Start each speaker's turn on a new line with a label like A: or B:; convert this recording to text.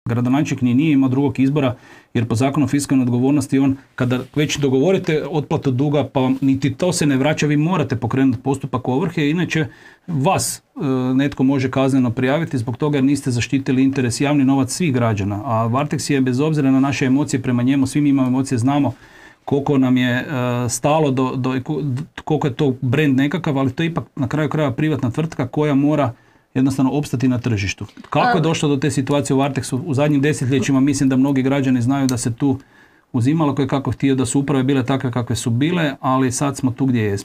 A: Gradonačelnik ni nije imao drugog izbora, jer po zakonu o fiskalnoj odgovornosti on, kada već dogovorite otplatu duga, pa niti to se ne vraća, vi morate pokrenuti postupak ovrhe, inače vas netko može kazneno prijaviti zbog toga jer niste zaštitili interes, javni novac svih građana. A Varteks je, bez obzira na naše emocije prema njemu, svi mi imamo emocije, znamo koliko nam je stalo koliko je to brand nekakav, ali to je ipak na kraju krajeva privatna tvrtka koja mora jednostavno opstati na tržištu. Kako je došlo do te situacije u Varteksu? U zadnjim desetljećima mislim da mnogi građani znaju da se tu uzimalo koje kako htio, da su uprave bile takve kakve su bile, ali sad smo tu gdje jesmo.